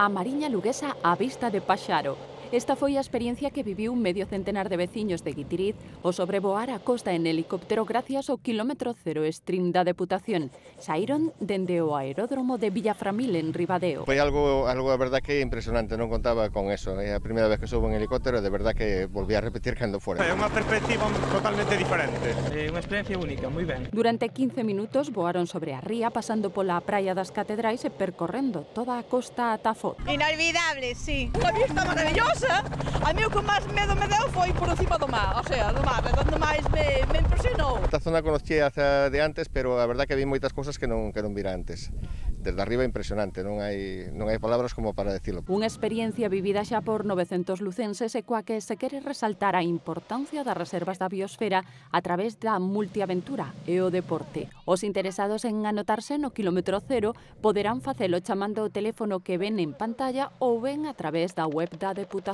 A Mariña Luguesa á vista de Paxaro. Esta foi a experiencia que viviu medio centenar de veciños de Guitiriz ao sobrevoar a costa en helicóptero gracias ao kilómetro cero stream da Deputación. Saíron dende o aeródromo de Villaframil en Ribadeo. Foi algo a verdad que impresionante, non contaba con eso. É a primeira vez que subo en helicóptero e de verdad que volví a repetir cando fora. É unha perspectiva totalmente diferente. É unha experiencia única, moi ben. Durante 15 minutos voaron sobre a ría, pasando pola praia das Catedrais e percorrendo toda a costa ata Foz. Inolvidable, sí. Unha vista maravillosa. A mí o que máis medo me deu foi por encima do mar, o sea, do mar, onde máis me impresionou. Esta zona conocía hace de antes, pero a verdad que vi moitas cousas que non vira antes. Desde arriba impresionante, non hai palabras como para decirlo. Unha experiencia vivida xa por 900 lucenses e coa que se quere resaltar a importancia das reservas da biosfera a través da multiaventura e o deporte. Os interesados en anotarse no kilómetro cero poderán facelo chamando o teléfono que ven en pantalla ou ben a través da web da Deputación.